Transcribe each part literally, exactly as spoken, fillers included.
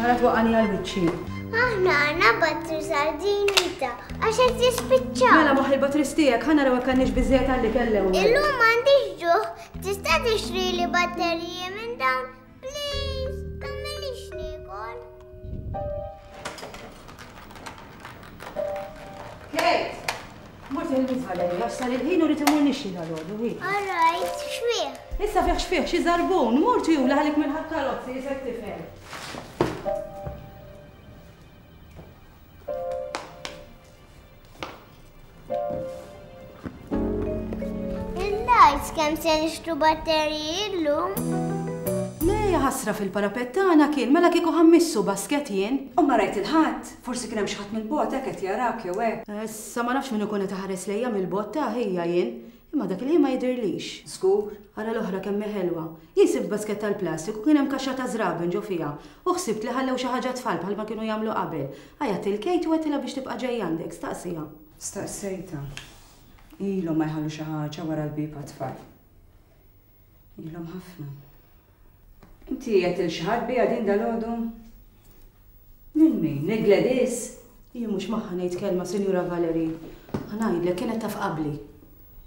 Ara twaqqani għal wiċċi. Aħna għandna batri sardinita għax qed jispiċċaw. Mela moħħ il-batris tiegħek ħa naraw hekk għandniex biżżejjed għalik l-ewwel. Illum m'għandix ġuħ, tista' tixtrili batteriji minn dawn? Please, tagħmilix niekol. Kate! Mort il-mizvala li għax sar il-ħin u rrid imur nixxi dal-għodu, hi. All right, xfih. Issa fih xfih, xi żarbun, mort jula ħalik mill-ħadd karozzi, jisek tifel. Il-lights kemm se nixtru batteriji llum? Le, ħasra fil-parapet tagħna kien mela kieku ħammissu basket jien. U ma rajt il-ħadd, forsi kien hemm xi ħadd mill-bogħod hekk qed jarak jew hekk. Issa ma nafx min ikun qed iħares lejja mill-bogħod ta' ħija jien, imma dak il-ħin ma jidhirlix. Żgur. Ara l-oħra kemm hi ħelwa. Jien sibt basket tal-plastik u kien hemm kaxxa ta' żraben ġo fiha u ħsibt li ħallew xi ħaġa tfal bħalma kienu jagħmlu qabel. Għajat il-Kate u għedtilha biex tibqa' ġejja għandek, staqsiha. Staqsejtha. Ilhom ma jħallu xi ħaġa wara l-bieb għat-tfal. Ilhom ħafna. Inti qed il xi ħadd biha din dalgħodu? Lil min? Lil Gladys? Jien mhux magħha ngħid kelma, Sinjura Valerie. Ħa ngħidlek kienet taf qabli.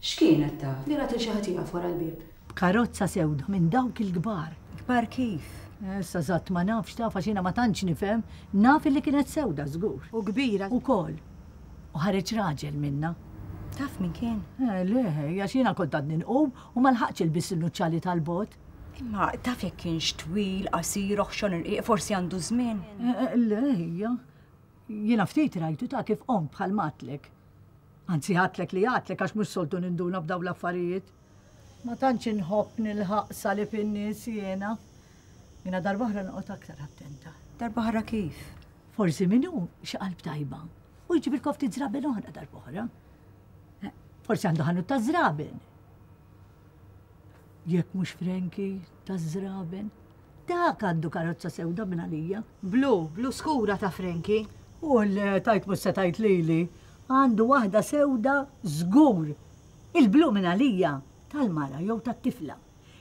X'kienet taf? Li rat il xi ħadd jieqaf wara l-bieb. Karozza sewda minn dawk il-kbar. Kbar kif? Issa żatt ma nafx taf għax jiena ma tantx nifhem, naf illi kienet sewda żgur. U kbira. Ukoll. U ħareġ raġel minna. Taf min kien? Eh, le, għax jiena kont għadni nqum u ma lħaqtx ilbis il-nuċċali tal-bot. Imma taf jekk kienx twil, qasir, oħxon irqiq, forsi għandu żmien. Eh, le, hija. Jiena ftit rajtu ta' kif qomt bħal matlek. Anzi ħatlek li għatlek għax mhux soltu ninduna b'daw l-affarijiet. Ma tantx inħobb nilħaq salib in-nies jiena. Jiena darba oħra noqgħod aktar attenta. Darba oħra kif? Forsi min hu xi qalb tajba u jġibilkom ftit żraben oħra darba oħra. Eh, Forsi għandu ħanut ta' żraben. Jekk mhux Frankie ta' żraben. Dak għandu karozza sewda minn għalija. Blu, blu skura ta' Frankie. U l tajt mhux se tajt lili. Għandu waħda sewda żgur. Il-blu minn għalija tal-mara jew tat-tifla.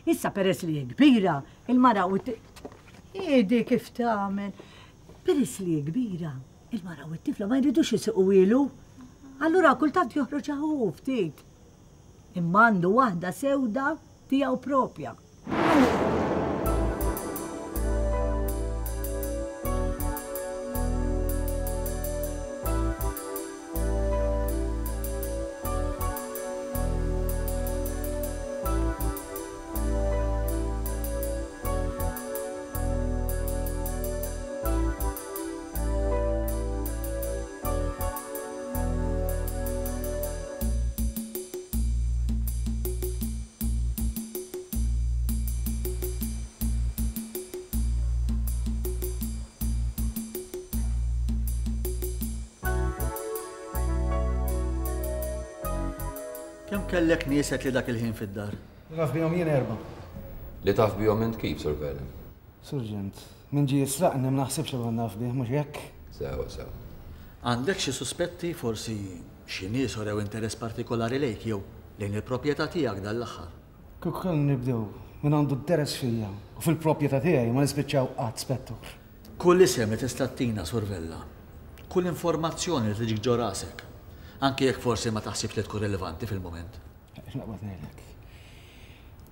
Issa peress li hi kbira, il-mara u t- Idi kif tagħmel. Peress li hi kbira, il-mara u t-tifla ma jridux isiqu ilu. Allura kultant joħroġ hu ftit. Imma għandu waħda sewda tiegħu propja. Kemm kellek nies li dak il-ħin fid-dar? Naf bihom jien erba'. Li taf bihom int kif, Sur Vernon? Surġent, min ġie jisraqni ma naħsibx li naf bih, mhux hekk? Sewa, sewa. Għandek xi suspetti forsi xi nies urew interess partikolari lejk jew lejn il-proprjetà tiegħek dan l-aħħar? Kieku kellna nibdew Min għandu d-deres fija u fil-proprjetà tiegħi ma nispiċċaw qatt, Spettur. Kull isem li tista' ttina, Sur Vella. Kull informazzjoni li tiġik ġo rasek. Anki jekk forsi ma taħsibx li tkun rilevanti fil-mument. Naqbad ngħidlek.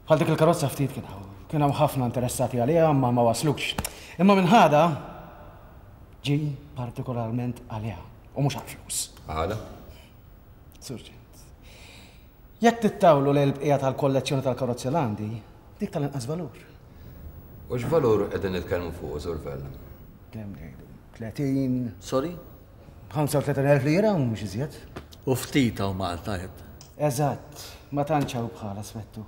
Bħal dik il-karozza ftit kien hawn. Kien hawn ħafna interessati għaliha imma ma waslux. Imma minn ħada ġi partikolarment għaliha u mhux għall-flus. Għala? Surġent. Jekk tittawlu lejn il-bqija tal-kollezzjoni tal-karozzi l-għandi, dik tal-inqas valur. U x'valur qegħdin nitkellmu fuq, Sur Vella? Kemm ngħidu? tletin. Sorry? ħamsa u tletin elf lira u mhux iżjed. U ftit hawn Malta qed. Eżatt, ma tantx hawn bħala, Spettur.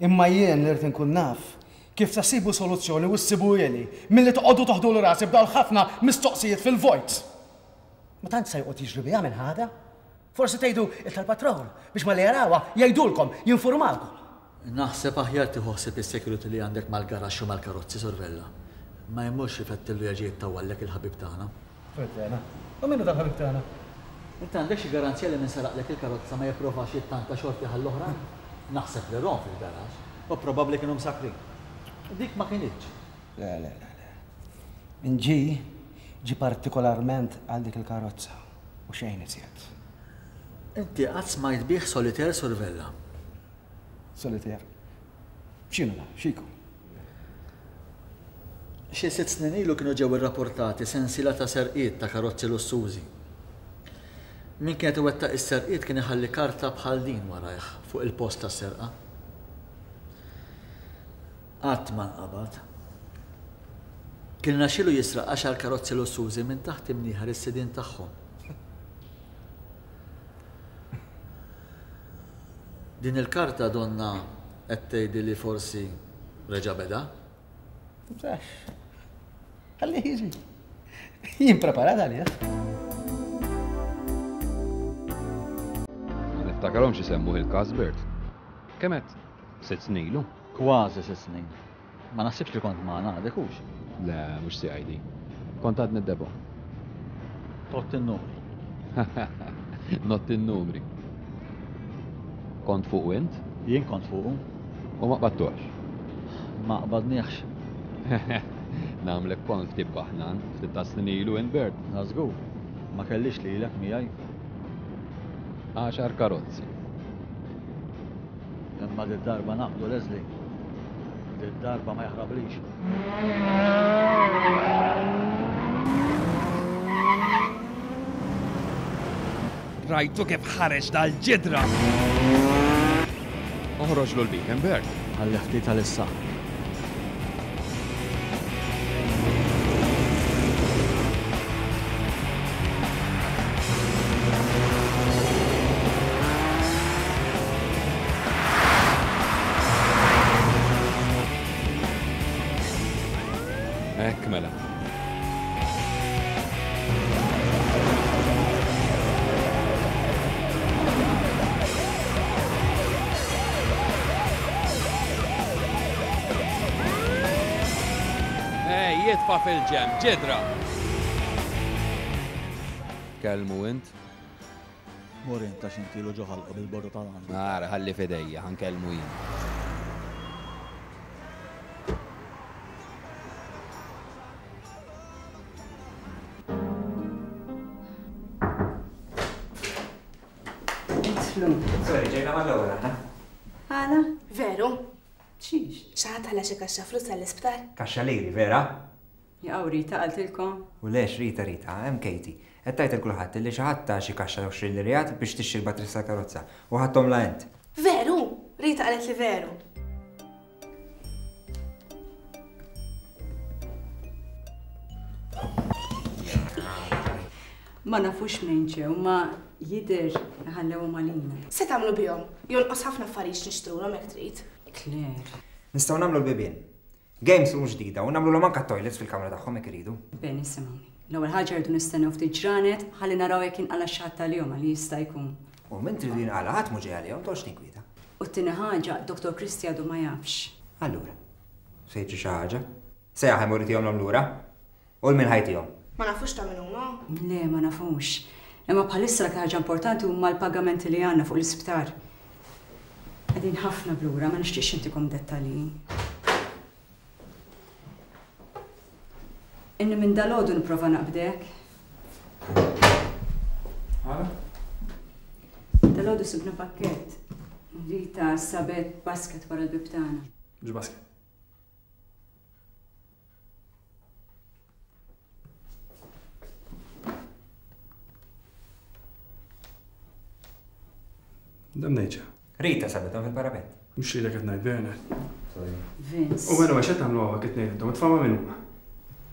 Imma jien li rrid inkun naf kif se ssibu soluzzjoni u ssibu ili milli toqgħodu toħdulu rasi b'dawn ħafna mistoqsijiet fil-vojt. Ma tantx se joqgħod jiġri biha minn ħada. Forsi tgħidu il tal-patrol biex ma li jarawha jgħidulkom, jinformawkom. Naħseb aħjar tieħu ħsieb is-security li għandek mal-garaxx u mal-karozzi, Sur Vella. Ma jmurx ifettillu jerġa' jittawwallek il-ħabib tagħna. Vella, u minnu dal-ħabib tagħna? Inti għandek xi garanzija li min saraqlek il-karozza ma jipprovax jittanta xorti ħall-oħrajn? Naħseb li rom fil-garaxx u probabbli kienu msakrin. Dik ma kinitx. Le, le, le, le. Min ġi, ġi partikolarment għal dik il-karozza u xejn iżjed. Inti qatt smajt bih solitaire, Sur Vella? Solitaire? X'inhu da? X'iku? Xi sitt snin ilu kienu ġew irrapportati sensiela ta' serqiet ta' karozzi lussużi. Min kienet iwettaq is-serqiet kien iħalli karta bħal din warajh fuq il-post tas-serqa. Qatt ma nqabad. Kien naxilu jisraq għaxar karozzi lussużi minn taħt imnieħer is-sidien tagħhom. Din il-karta donna qed tgħidli li forsi reġa' beda? Msax. Ħalli jiġi. Jien preparat għalih. Ma niftakarhomx isemmuh il-każ Bert. Kemm qed? Sitt snin ilu? Kważi sitt snin. Ma naħsibx li kont magħna għadek hux. Le, mhux C I D. Kont għadni d-debo. Tott in-numri. Not in-numri. Kont fuq int? Jien kont fuqu. U ma qbadtuhx? Ma qbadniex. Nagħmlek kont ftit baħnan, ftit ta' snin ilu int Bert. Na żgur, ma kellix lilek miegħi. Għaxar karozzi. Imma di darba naqbdu Leslie. Di darba ma jaħrablix. Rajtu kif ħareġ dal-ġidra. Oħroġ l beacon, Bert. Ħalli ftit għalissa. Hekk mela. Ej, jitfa' fil-ġem, ġidra! Kellmu int? Mur int għax intilu ġo ħalqu bil-borru tal-għandu. Ara, ħalli f'idejja, ħankellmu jien. Idħlu. Sorry, ġejna mal-ewwel aħna. Għala? Veru? Xiex? Xi ħadd ħalla xi kaxxa flus għall-isptar? Kaxxa liri, vera? Jaqgħu Rita qaltilkom? U lex Rita Rita, hemm Katie. Qed tgħid il kulħadd li xi ħadd ta' xi kaxxa għoxrin lirijat biex tixtri l-batterija tal-karozza u ħadthom la int. Veru? Rita qalet li veru. Ma nafux minn ġew, ma jidher ħallewhom għalina. Se tagħmlu bihom? Jonqos ħafna affarijiet nixtrulhom jekk trid. Claire. Nistgħu nagħmlu l-bibien. Games room ġdida u nagħmluhom anke toilets fil-kamra tagħhom jekk iridu. Ben, isimgħuni. L-ewwel ħaġa rridu nistennew ftit ġranet ħalli naraw jekk inqala' xi ħadd għalihom għal jista' jkun. U min tridu jinqala' ħadd mhu ġej għalihom, toqgħodx tinkwieta. U t-tieni ħaġa, Doktor Christie għadu ma jafx. Allura, se jiġri xi ħaġa? Se jaħem u rritihom lura? U l-min ħajtihom? Ma nafux ta' min huma? Le, ma nafux. Imma bħalissa l-aktar ħaġa importanti huma l-pagamenti li għandna fuq l-isptar. Qegħdin ħafna blura, ma nixtieqx intikom dettalji. Inni minn dalgħodu nipprova naqbdek. Għala? Dalgħodu sibna pakkett. Rita sabet basket wara l-bib tagħna. X'basket? Dam ngħidxa. Rita sabethom fil-parapet. Mhux lilek qed ngħid Bernard. Sorry. Vince. U mela x'qed tagħmlu hawnhekk it-tnejn intom, itfgħu minn huma.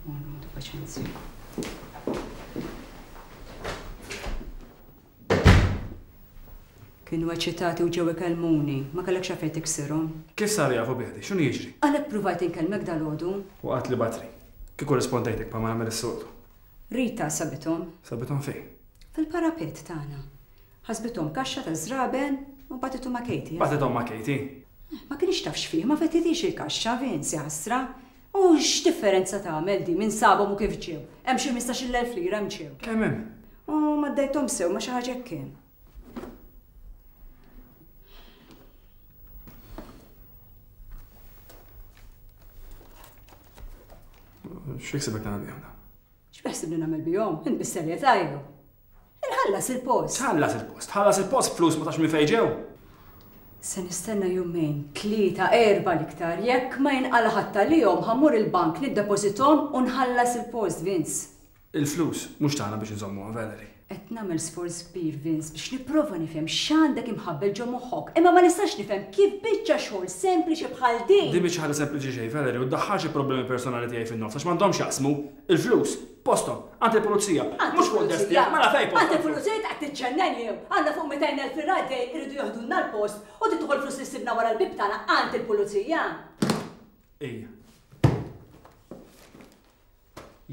Għandu paċenzja. Kienu eċitati u ġew ikellmuni, ma kellekx għalfejn tiksirhom. Kif saru jafu biħdi? X'inhu jiġri? Għalhekk pruvajt inkellmek dalgħodu. U qatt li batri. Kieku rispondejtek pa ma nagħmel is-soltu. Rita sabithom. Sabithom fejn? Fil-parapet tagħna. Ħasbithom kaxxa ta' żraben u bagħtithom ma' Katie. Bagħtithom ma' Katie? Ma kienx taf x'fih, ma fettitix il-kaxxa, Vince, ħasra. U x'differenza tagħmel di minn sabhom u kif ġew? Hemm xi ħmistax-il elf lira hemm ġew. Kemm hemm? U ma ddejthom sew ma xi ħaġa hekk kien. X'jiksibek tagħmel bihom dawn? X'beħsibni nagħmel bihom? Int bis-serjetà jew? Inħallas il-post. Tħallas il-post, tħallas il-post flus ma tafx minn fejn ġew. Se nistenna jumejn, tlieta, erba' l-iktar, jekk ma jinqala ħadd għalihom ħa mmur il-bank niddepożithom u nħallas il-post, Vince. Il-flus mhux tagħna biex inżommuha, Valerie. Qed nagħmel sforz kbir, Vince, biex nipprova nifhem x'għandek imħabbel ġo moħħok, imma ma nistax nifhem kif biċċa xogħol sempliċi bħal din. Din biċċa ħaġa sempliċi xejn, Valerie, u ddaħħalx il-problemi personali tiegħi fin-nofs għax m'għandhomx jaqsmu il-flus. Postom, għand il-pulizija, mhux fuq id-desk tiegħek, mela fejn postom. Għand il-pulizija qed tiġġennen jew. Għandna fuq mitejn elf lira dejn iridu joħdulna l-post u titħol flus li sibna wara l-bib tagħna għand il-pulizija. Ejja.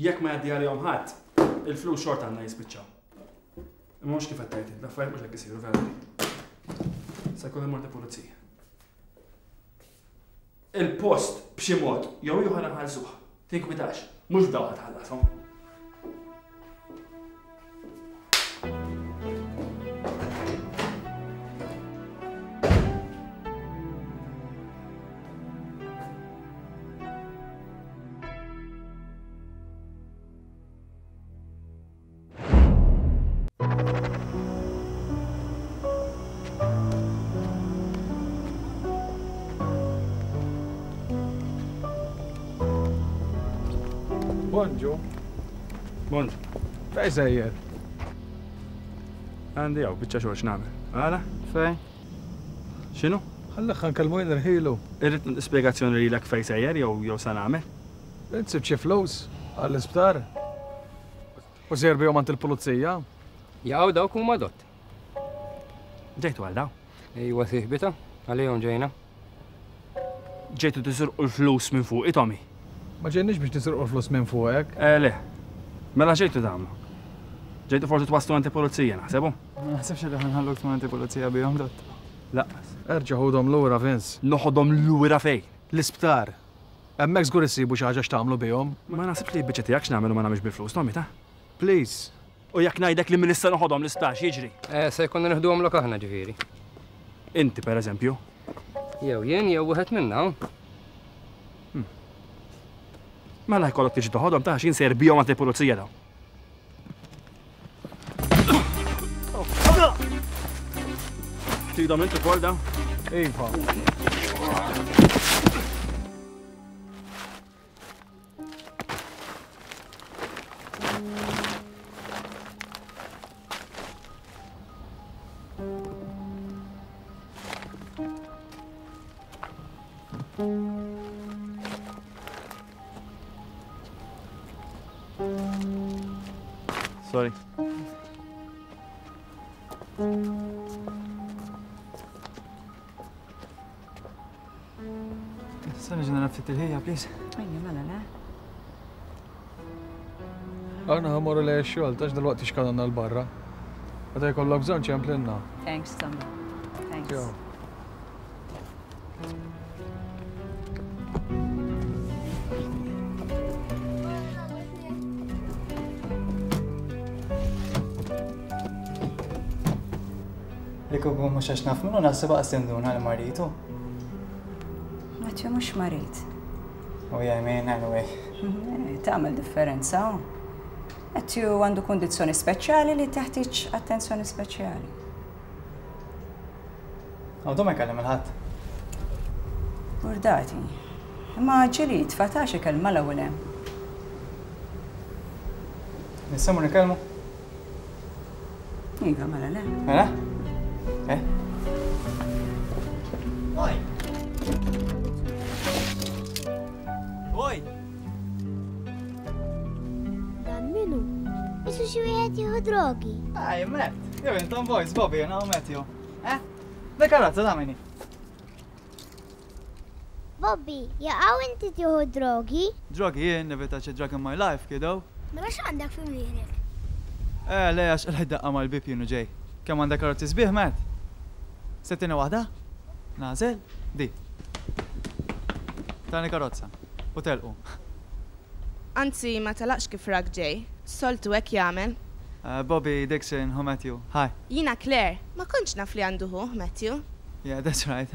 Jekk ma jgħaddi għalihom ħadd, il-flus xorta għandna jispiċċaw. Imma mhux kif qed tgħid, l-affarijiet mhux hekk isiru Valerie. Se jkun immur pulizija. Il-post b'xi mod jew ieħor nħallsuh. Tinkwitax, mhux f'dawn ħa tħallashom. Bonġu. Bonġu. Fej sejjer? Għandi hawn biċċa xogħol x'nagħmel. Għala? Fej? X'inhu? Ħalli nkellmu jien irħilu. Irrid spjegazzjoni lilek fej sejjer jew jew sa nagħmel. Int sibt xi flus għall-isptar. U sejjer bihom għand il-pulizija. Jaqgħu dawk huma dott. Ġejtu għal daw? Ejwa sieħbita, għalihom ġejna. Ġejtu tisirqu l-flus minn fuqi, Tommy. Ma ġejniex biex nisirqu l-flus minn fuqek. Eh, le. Mela ġejtu tagħmlu. Ġejtu forsi twaslu għand il-pulizija, naħsebu? Ma naħsibx li ħanħalluk tmur għand il-pulizija bihom dott. Laqqas. Erġa' ħudhom lura, Vince. Noħodhom lura fejn? L-isptar. Hemmhekk żgur issibu xi ħaġa x'tagħmlu bihom. Ma naħsibx li biċċa tiegħek x'nagħmel u ma nagħmilx bil-flus, Tommy, ta? Please. U jekk ngħidlek li minn issa noħodhom l-isptar x'jiġri? Eh, se jkollna nieħduhom lok aħna ġifieri. Inti pereżempju. Jew jien jew wieħed minna. Mela jkollok tiġi toħodhom ta' x'in sejr bihom għand il-pulizija dawn. Tridhom inti ukoll dawn? Iva. Sorry. Tista' niġi nara ftit il-ħija, please? Ejja, mela le. Aħna ħa mmorru lejn ix-xogħol, tax dalwaqt ixkananna l barra. Meta jkollok bżonn ċemplinna. Thanks, Tommy. Thanks. Ciao. Li kieku mhux għax naf minnu naħseb aqas tinduna li maritu. Matthew mhux marid. Oh yeah, I mean, anyway. Tagħmel differenza. Matthew għandu kundizzjoni speċjali li teħtieġ attenzjoni speċjali. Għadu ma jkellem il-ħadd. Burdati. Imma ġieli jitfa' ta' xi kelma l-ewwel hemm. Nista' mmur nikellmu? Iva, mela le. Mela? Eh? Oj! Oj! Dan minu? Isu xi wieħed jieħu drogi. Aj, Matt. Jew intom boys, Bobby, jena u Matthew. Eh? Da karozza da minni. Bobby, jaqaw inti tieħu drogi? Drogi jien, never touch a drug in my life, kiddo. Mela x'għandek fi mnieħrek? Eh, le, għax qlajt daqqa mal-bib jien u ġej. Kemm għandek karozzi sbieħ, Matt? Settina waħda? Nażel? Di. Tani karozza. U telqu. Anzi, ma telaqx kif rak ġej. Soltu hekk jagħmel. Uh, Bobby Dixon, hu Matthew. Hi. Jiena Claire, ma kontx naf li għandu hu, Matthew. Yeah, that's right.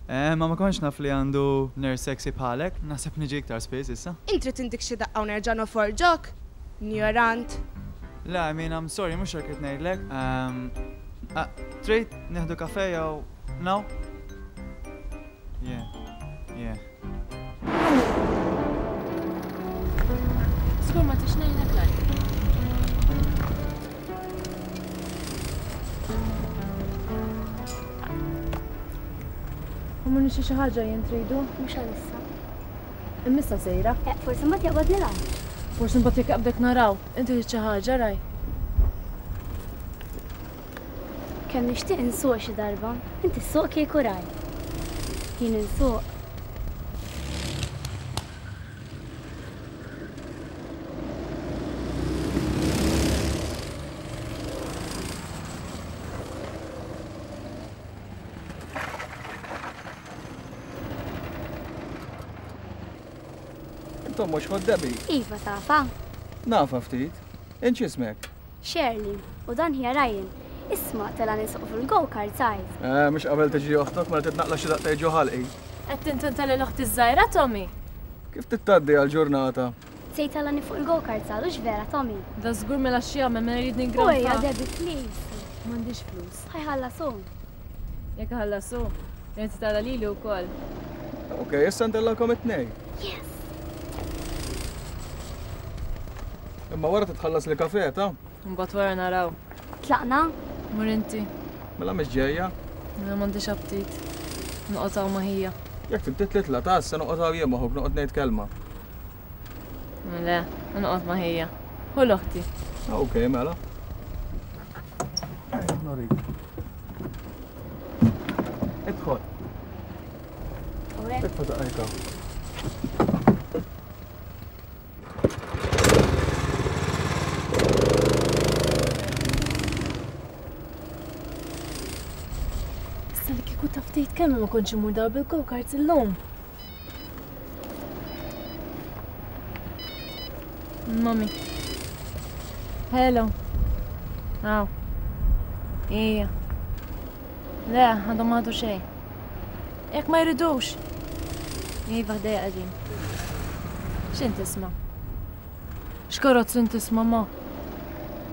Eh, ma ma kontx naf li għandu nurse sexy bħalek. Naħseb niġi iktar spiss issa. Intri tindik xi daqqa u nerġa' noforġok? Ignorant. Le, I mean, I'm sorry, mhux hekk qed ngħidlek. Um, uh, trid nieħdu kafe jew no? Yeah, yeah. Żgur ma tix ngħidlek lajk. U ma nixi xi ħaġa jien tridu? Mhux għalissa. Immissa sejra. Eh, forsi mbagħad jaqbadni l-għajn. Forsi mbagħad jekk jaqbdek naraw. Inti trid xi ħaġa raj. Kemm nixtieq insuq xi darba, inti ssuq kieku raj. Jien insuq. Intom mhux ħod Debbie? Iva tafa. Nafa ftit. Int x'ismek? Shirley, u dan hija Ryan. Isma' tela nisuq fil-go-kart size. Eh, mhux qabel tiġi oħtok mela titnaqla xi daqtej ġo ħalqi. Qed tintenta lil oħti żgħira Tommy? Kif tittaddi għall-ġurnata? Se jtellani fuq il-go-kart sal hux vera Tommy. Da żgur mela xi jagħmel mela jrid ningranfa. Ejja Debbie please. M'għandix flus. Ħa jħallasu. Jekk ħallasu, irid tara lili wkoll. Ok, issa ntellakom it-tnejn. Yes. Imma wara titħallas li kafe, ta? Mbagħad wara naraw. Tlaqna? Mur inti. Mela mhix ġejja. Mela m'għandix aptit. Noqgħod hawn ma' ħija. Jekk trid titla' ta' issa noqgħod hawn jien maħub noqgħod ngħid kelma. Le, noqgħod ma' ħija. Hu l-oħti. Ok, mela. Norik. Idħol. Idħol daqqa. Issa li kieku taf tgħid kemm ma kontx immur dar bil-go-karts illum. Mami. Hello. Aw. Ija. Le, għadhom ma ħadu xejn. Jekk ma jridux. Iva ħdejja qegħdin. X'int tisma'? X'karozz int tisma' ma?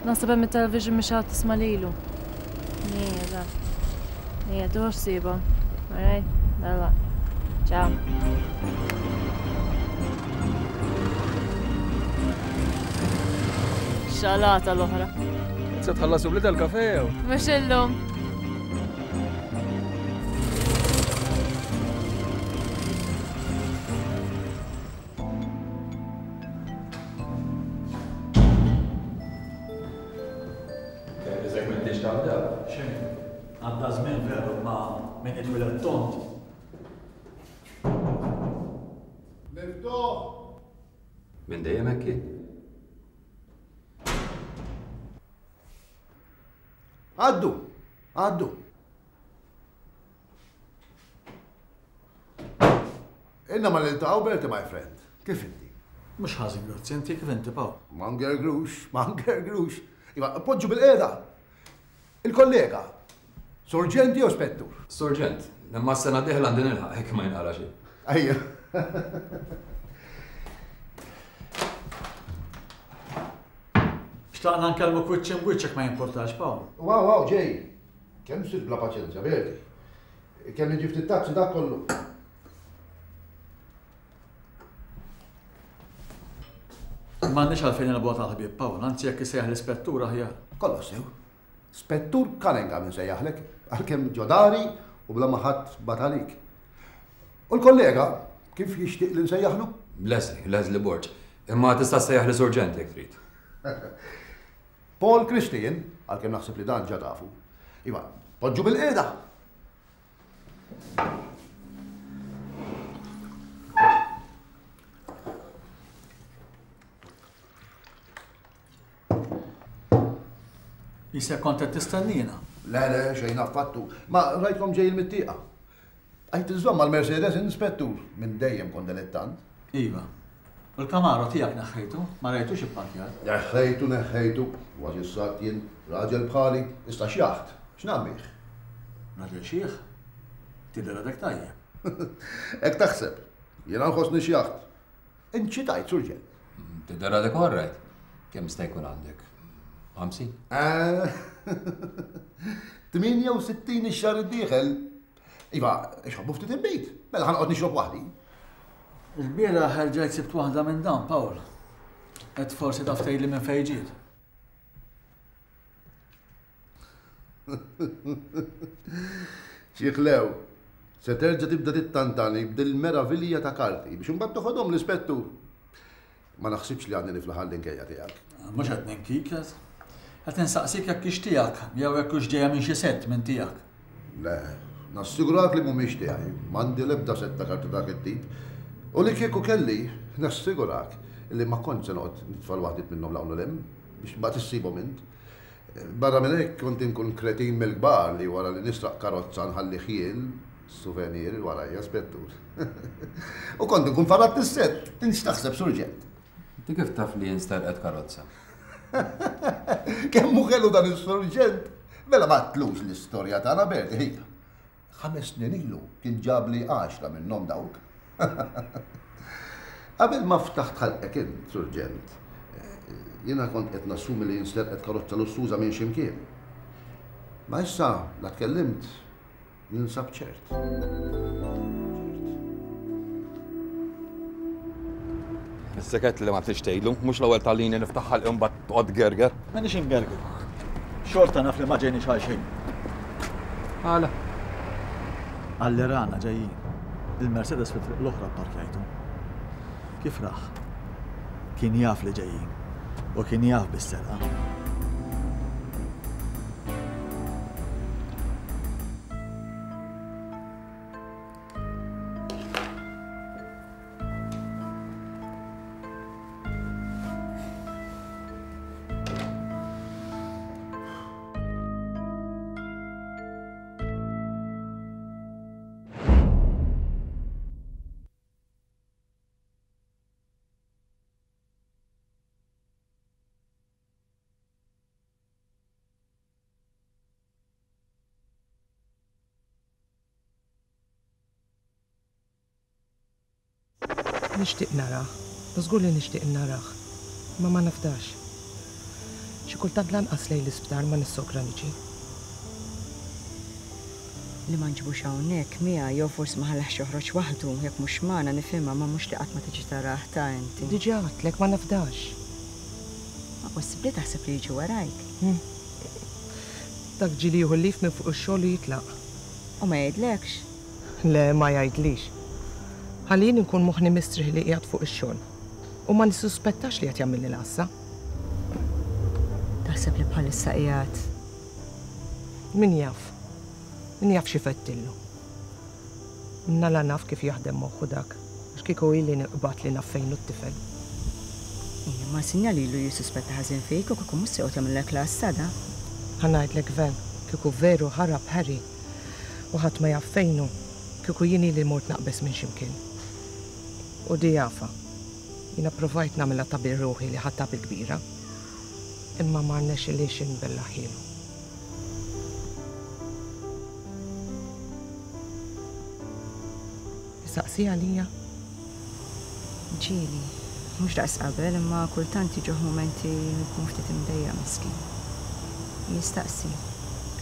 Naħseb hemm it-television mhix għad tisma' lilu. Ija, eżatt. Ija, tuħux siba. Alright, dalla. Ciao. Xalata l-oħra. Se tħallasu bli tal-kafe jew? Mhux illum. Iżek m'intix taf daw. Xejn. Għadda żmien veru ma min itwieled tont. Miftuħ! Minn dejjem hekk kien. Għaddu, għaddu. Inna ma niltaqgħu Berti, my friend. Kif inti? Mhux ħażin, grazzi, inti kif inti Paw? Ma ngergrux, ma ngergrux. Iva, poġġu bil-qiegħda. Il-kollega, Surġent jew spettur? Surġent. Imma s-sena d-dieħla għandi nilħaq hekk ma jinqala xejn. Ejja. Xtaqna nkellmuk wiċċ imbwiċċ jekk ma jimpurtax, Pawl. Wow, wow, ġej. Kemm sirt bla paċenzja, Berti. Kemm niġi ftit taxi dak kollu. M'għandniex għalfejn nilgħabu tal-ħbieb, Pawl, anzi jekk isejjaħ l-ispettur aħjar. Kollox sew. Spettur Cunningham insejjaħlek, għalkemm ġodari u bla ma ħadd bat għalik. U l-kollega, kif jixtieq li nsejjaħlu? Leslie, Leslie Borg. Imma tista' ssejjaħ li surġent jekk trid. Paul Christian, għalkemm naħseb li dan ġa tafu. Iva, poġġu bil-qiegħda. Jisek kont qed tistennina. Le, le, xejn affattu. Ma rajtkom ġejjin mit-tieqa. Għajt iżomm mal-Mercedes inspettur minn dejjem kont dilettant. Iva. U l-Camaro tiegħek neħħejtu, ma rajtux ipparkjat. Neħħejtu, neħħejtu. Kważi ssat jien raġel bħali, issa xjaħt. X'nagħmel? Raġel xieħ? Tidher għadek tajjeb. Hekk taħseb. Jiena nħossni xjaħt. Int xi tgħid, surġent? Tidher għadek all right. Kemm sta jkun għandek? Ħamsin? tmienja u sittin ix-xahar id-dieħel. Iva, ixħobbu ftit inbejt. Mela ħanqod nixrob waħdi. Il-bieraħ erġajt sibt waħda minn dawn, Pawl. Qed forsi taf tgħidli minn fejn ġiet. Xi ħlew, se terġa' tibda tittantani b'dil-meravilja ta' karti biex imbagħad toħodhom l-ispettur. Ma naħsibx li għandi niflaħ għall-inkejja tiegħek. Mhux qed ninkik, qed insaqsik jekk hix tiegħek jew jekk hux ġejja minn xi sett minn tiegħek. Le, nassigurak li mhumiex tiegħi, m'għandi l-ebda sett ta' karti dak it-tip. U li kieku kelli, nassigurak li ma kontx se noqgħod nitfa' l-waħdiet minnhom l hawn u 'l hemm biex mbagħad issibhom int. Barra minn hekk kont inkun kretin mill-kbar li wara li nisraq karozza nħalli ħjiel souvenir warajja spettur. U kont inkun farratt is-sett, int x'taħseb surġent? Inti kif taf li jien sterqet karozza? Kemm hu ħelu dan is-surġent? Mela ma tlux l-istorja tagħna Berti ħija. Ħames snin ilu kien ġabli għaxra minnhom dawk. Qabel ma ftaħt ħalqek int, surġent, jiena kont qed nassumi li jinsterqet karozza lussuża minn x'imkien. Ma issa la tkellimt ninsab ċert. Is-seket li ma tix tgħidlu, mhux l-ewwel tal-lini niftaħ ħalqi mbagħad toqgħod gerger. M'għandix ingerger. Xorta naf li ma ġejniex għal xejn. Għala. Għalli rana ġejjin. Il-Mercedes fit-triq l-oħra pparkjajtu. Kif raħ? Kien jaf li ġejjin u kien jaf bis-serqa. Nixtieq narah, żgur li nixtieq narah, ma ma nafdax. Xi kultant lanqas lejn l-isptar ma nissokra niġi. Li ma nġibux hawnhekk miegħi jew forsi ma ħallahx joħroġ waħdu jekk mhux magħna nifhimha ma mhux li qatt ma tiġi tarah ta' inti. Diġà għedtlek ma nafdax. Ma possibbli taħseb li jiġi warajk. Dak ġieli jieħu l-lif minn fuq ix-xogħol u jitlaq. U ma jgħidlekx? Le, ma jgħidlix. Ħalli jien inkun moħħni mistrieħ li qiegħed fuq ix-xogħol. U ma nissuspettax li qed jagħmilli l-għassa. Taħseb li bħalissa qiegħed? Min jaf? Min jaf xi fettillu? Nala naf kif jaħdem moħħu dak, għax kieku ili nqbad li naf fejn hu t-tifel. Ejja, ma sinjal ilu jissuspetta ħażin fik u kieku mhux se joqgħod jagħmillek l-għassa da. Ħa ngħidlek Ven, kieku veru ħarab Harry u ħadd ma jaf fejnu, kieku jien ili mort naqbes minn x'imkien. U di jafa. Jiena provajt nagħmilha ta' bir-ruħi li ħadtha bil-kbira. Imma ma rnexxilix inbellaħielu. Jistaqsi għalija? Ġieli, mhux daqs qabel, imma kultant jiġuh mumenti jkun ftit imdejjaq miskin. Jistaqsi,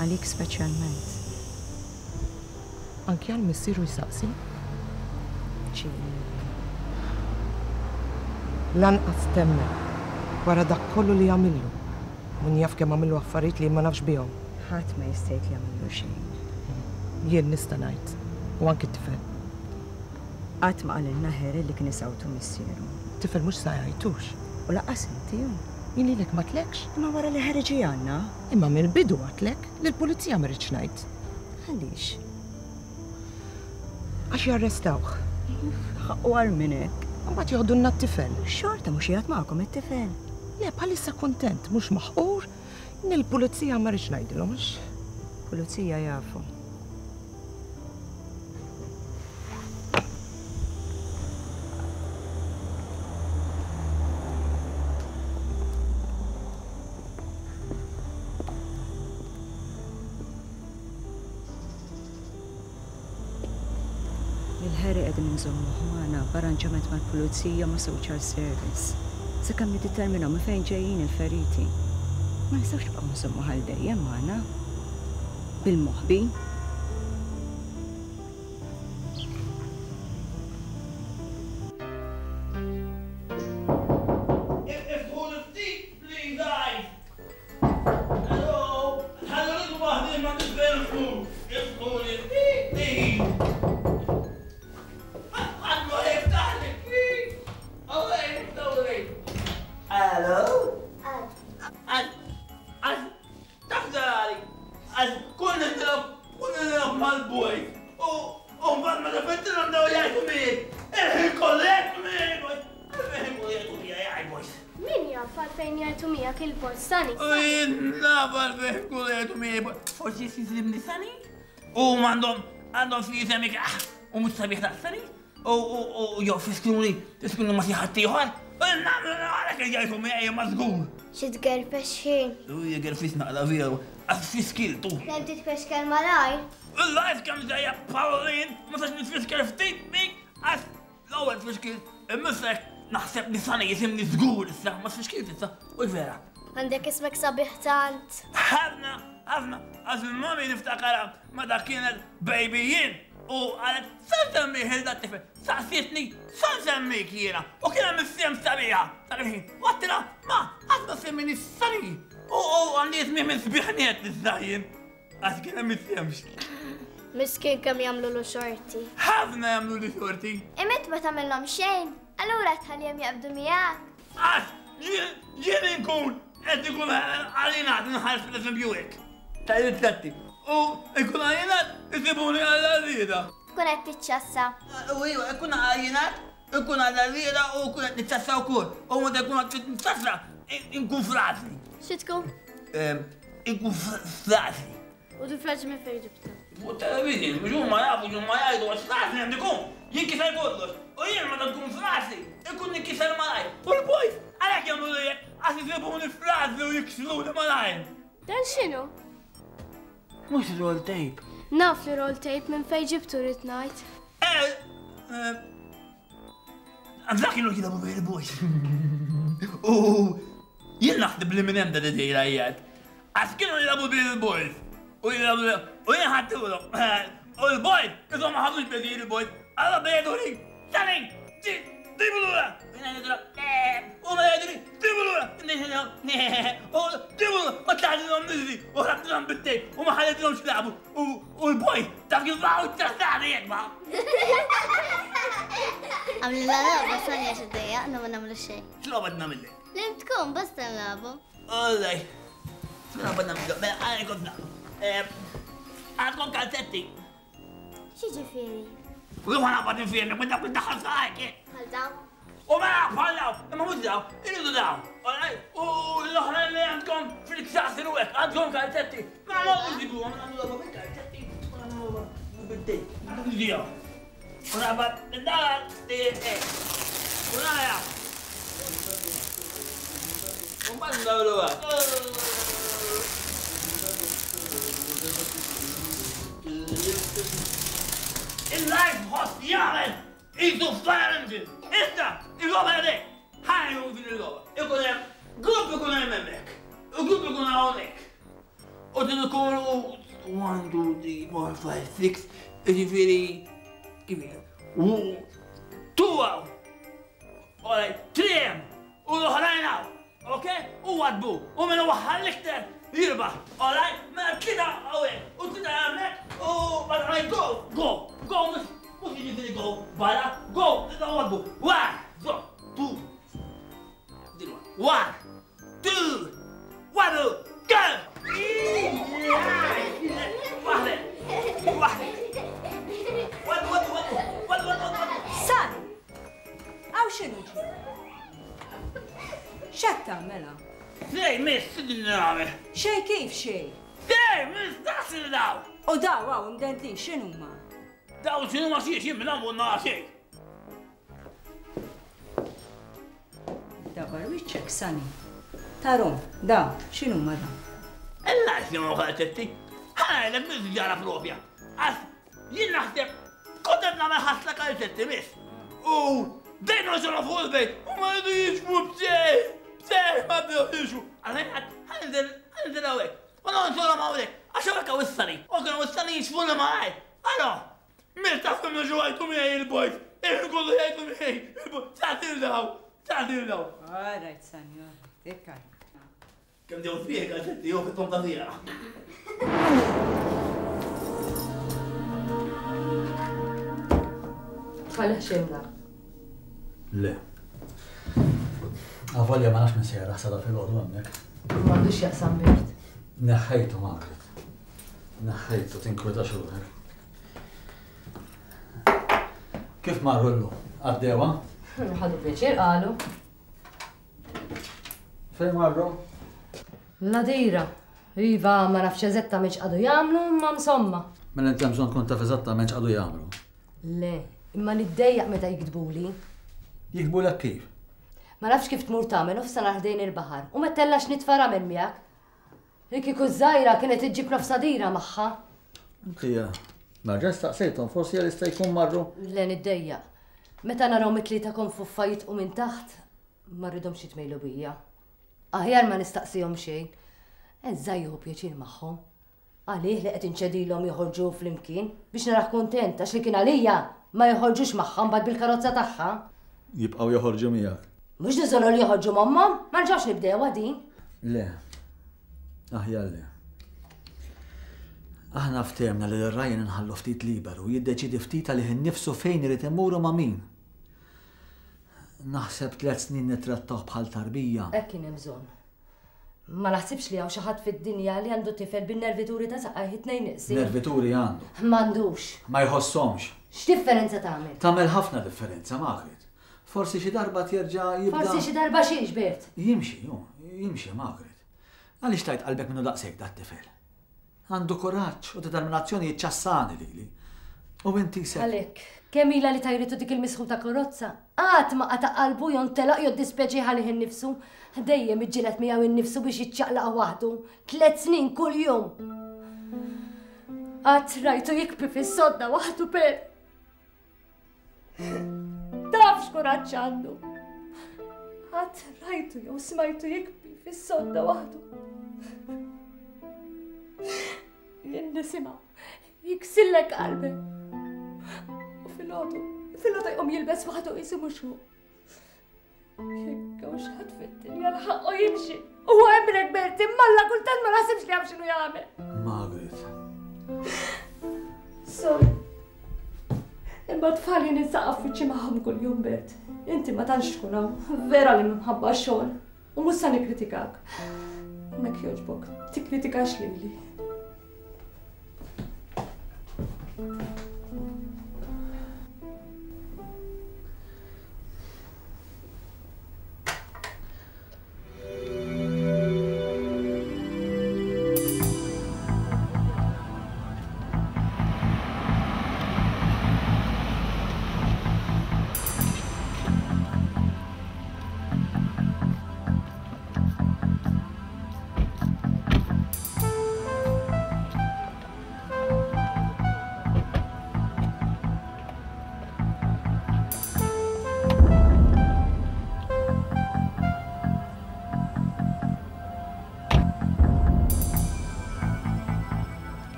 għalik speċjalment. Anki għal missieru jistaqsi? Ġieli. Lanqas temmen, wara dak kollu li għamillu. Min jaf kemm għamillu affarijiet li ma nafx bihom. Ħadd ma jista' jgħid li għamillu xejn. Jien nista' ngħid, u anki t-tifel. Qatt ma qalilna Harry li kien isawtu missieru. Tifel mhux sa jgħidux. U lanqas inti hu. Jien lilek ma tlekx. Imma wara li Harry ġie għandna. Imma mill-bidu għadtlek li l-pulizija ma rridx ngħid. Għaliex? Għax jarrestawh. Ħaqqu għar minn hekk. Imbagħad joħdulna t-tifel. Xorta mhux qiegħed magħkom it-tifel. Le, bħalissa kuntent, mhux maħqur. Nil-pulizija ma rridx ngħidilhom għax. Pulizija jafu. Lil Harry qegħdin inżommuh magħna b'arranġament mal-pulizija ma' social service. Sakemm niddeterminaw minn fejn ġejjin il-feriti. Ma nistgħux nibqgħu nżommuh għal dejjem magħna. Bil-moħbi. Forsi jisimni Sani? U għandhom għandhom fi jisemik u mhux sabiħ daqs Sani? U jew fiskruni fiskruni ma xi ħadd ieħor? Nagħmlu għalhekk jgħidu miegħi ma żgur. Xi tgerfex ħin. U jgerfis naqla veru, għax fiskiltu. Kemm titfexkel malajr? Il-life kemm ġejja Pauline, ma sax nitfiskel ftit bik għax l-ewwel tfixkil imissek naħseb li Sani jisimni żgur issa, ma tfixkilt issa, u l-vera. Għandek ismek sabiħ tant. Ħafna, ħafna, għax il-mami niftakarha meta kienet baby jien u qalet sa nsemmih il tifel, saqsietni sa nsemmik jiena u kien hemm is-sem sabiħa dak il-ħin. U għedtilha ma qatt ma semmini Sani u għandi ismi minn sbiħniet iż-żajjin għax kien hemm is-semx. Miskin kemm jagħmlulu xorti. Ħafna jagħmlulu xorti. Imma ma tagħmilhom xejn, allura tħallihom jaqbdu miegħek. Għax jien inkun qed ikun għalinat nħares pereżempju hekk. Tal-ritratti. U ikun għalinat isibuni għall-għarrieda. Tkun qed tiċċassa. U iva, ikun għalinat, ikun għall-għarrieda u ikun qed niċċassa wkoll. U meta ikun qed niċċassa, inkun frażli. Xi tkun? Inkun frażli. U di frażli minn fejn ġibtha? Fuq television, mhux huma jafu x'huma jgħidu għax frażli għandi jkun. Jinkiser kollox. U jien meta nkun frażli, ikun ninkiser malajr. U l-boys għalhekk jagħmlu hekk għax isibuni frażli u jiksruni malajr. Dan x'inhu? Mhux roll tape. Naf li roll tape minn fejn ġibtu rrid ngħid. Eh, dak kienu jilagħbu bejn il-boys. U jien naħseb li minn hemm dan id-dejra qiegħed. Għax kienu jilagħbu bejn il-boys. U jilagħbu u jien ħadtulhom. U l-boys, iżhom ma ħadux bejn il-boys. Alla bejgħiduli, Sani, ġibu lura. U ma jgħiduli, ġibu lura. U ġibu lura, ma tlaħdilhom niżli u ħrabtilhom bit-tejp u ma ħallejtilhomx jilagħbu. U l-boys taf kif baqgħu ċċassani jekk ma. Għamlilna logħba Sani għax iddejjaqna ma nagħmlu xejn. X'logħba nagħmillek? Li tkun basta nilagħbu. Olej. X'logħba nagħmlu? Mela għalli kont nagħmlu. Għandkom kalzetti. X'jiġifieri? U jien naqbad infirmi, minn dak id-daħal saqajk. Bħal dawn? U mela bħal dawn, imma mhux dawn, iridu dawn. U l-oħra li għandkom fil-ksasir u hekk, għandkom kalzetti. Ma ma nġibuhom, nagħmlu logħba bil-kalzetti, u nagħmlu logħba bid-dejn. U naqbad id-daħal, u nara. U mbagħad ndawruha. Il-live ħoss jagħmel isu fire engine. Issa, il-logħba għadek. Ħajju din il-logħba. Ikun hemm grupp ikun hemm hemmhekk. U grupp ikun hawnhekk. U din ikunu one, two, three, four, five, six, jiġifieri kif Two hawn. Alright, three hemm. U l-oħrajn hawn. Okay? U għadbu. U minn waħħal l-iktar jirbaħ. Alright? Mela tlieta hawnhekk. U tlieta hemmhekk. U alright, go, go, go, mhux jiġifieri go, barra, go, għadbu. One, go, two, one, two, one, go! Waħda, waħda. Waddu, waddu, waddu, waddu, waddu, waddu. San! Għaw xinu ġi? X'qed tagħmela? Xej, miss, x'din nagħmel? Xej kif xej? Xej, miss, dasil daw! U daw għaw imdendlin x'inhuma? Daw x'inhuma xiex, jien minn hawn nara xejn. Dabar wiċċek, Sani. Tarom, daw, x'inhuma daw? Illa x'inhuma kalzetti? Ħa miss ġara propja. Għax jien naħseb kont qed nagħmel ħasla kalzetti miss. U dejn noġorhom fuq il-bejt u ma jridu jiġbu b'xejn, b'xejn ma bdew jiġbu. Għalhekk ħanżel ħanżel hawnhekk. U nonxorhom hawnhekk għax hawnhekk hawn is-sani. U kienu is-sani jixfu li malajr. Ara, miss taf kemm jiġu għajtu miegħi il-bojt. Il-kollu jgħidu miegħi il-bojt. Tagħtil daw, tagħtil daw. All right, Sani, all right. Ikka. Kemm ġew sbieħ kalzetti jew fit-tomta tiegħek. Tħallih xejn da. Le. Avolja ma nafx minn sejra ħsada fil-għodu hemmhekk. M'għandux jaqsam Bert. Neħħejtu Margaret. Neħħejtu tinkwetax ruħek. Kif marru llum? Għaddewa? Ħadu pjaċir qalu. Fejn marru? L-għadira. Iva, ma nafx eżattament x'qadu jagħmlu, imma insomma. Mela inti hemm bżonn tkun taf eżattament x'qadu jagħmlu. Le, imma niddejjaq meta jiktbuli. Jiktbulek kif? Ma nafx kif tmur tagħmel nofs ħdejn il-baħar u ma tellax nitfa' ramel miegħek. Li kieku żgħira kienet iġġib nofs għadira magħha. Inti nerġa' staqsejthom forsi għal jista' jkun marru. Le niddejjaq. Meta narahom it-tlieta konfuffa jitqu minn taħt, ma rridhomx jitmejlu bija. Aħjar ma nistaqsihom xejn. Eżża jieħu pjaċir magħhom. Għalih li qed inċedilhom joħorġu flimkien biex narah kuntent għax li kien għalija ma joħorġux magħha mbagħad bil-karozza tagħha. Jibqgħu joħorġu miegħek. Mhux niżolu li joħorġu m'ommhom, ma nġawx nibdewha din. Le. Aħjar le. Aħna ftehmna li l-Ryan inħallu ftit liberu jiddeċidi ftit għalih innifsu fejn irid imur u ma' min. Naħseb tliet snin nittrattawh bħal tarbija. Hekk kien hemm bżonn. Ma naħsibx li hawn xi ħadd fid-dinja li għandu tifel bin-nervituri ta' saqajh it-tnejn iqsir. Nervituri għandu. M'għandux. Ma jħossomx. X'differenza tagħmel? Tagħmel ħafna differenza, Margaret. Forsi xi darba terġa' jibda. Forsi xi darba xiex, Bert. Jimxi, ju, jimxi, Margaret. Għaliex tajt qalbek minnu daqshekk dat-tifel? Għandu kuraġġ u determinazzjoni jiċċassani lili. U inti se. Għalhekk, kemm ilha li tajritu dik il-misħu ta' karozza? Qatt ma qata' qalbu jew ntelaq jew ddispjaċih għalih innifsu. Dejjem iġġieled miegħu innifsu biex jiċċaqlaq waħdu. Tliet snin kuljum. Qatt rajtu jikbi fis-sodda waħdu per. Taf x'kuraġġ għandu. Qatt rajtu jew smajtu jikbi fis-sodda waħdu. Jien nisimgħu jiksillek qalbek. U filgħodu, filgħodu jqum jilbes waħdu qisu mhux hu. Jekk hawn xi ħadd fid-dinja li ħaqqu jimxi. Huwa hemmhekk Bert, imma alla kultant ma naħsibx li jaf x'inhu jagħmel. Margaret. Sorry. Imma tfal jien insaqaf wiċċi magħhom kuljum Bert. Inti ma tantx tkun hawn, vera li minħabba x-xogħol. U mhux se nikkritikak. Mek jogħġbok, tikkritikax lili.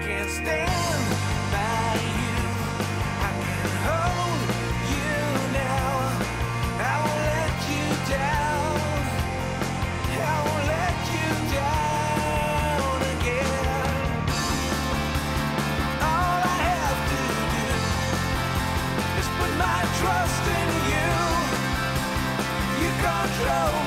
can stand by you. I can hold you now. I won't let you down. I won't let you down again. All I have to do is put my trust in you. You control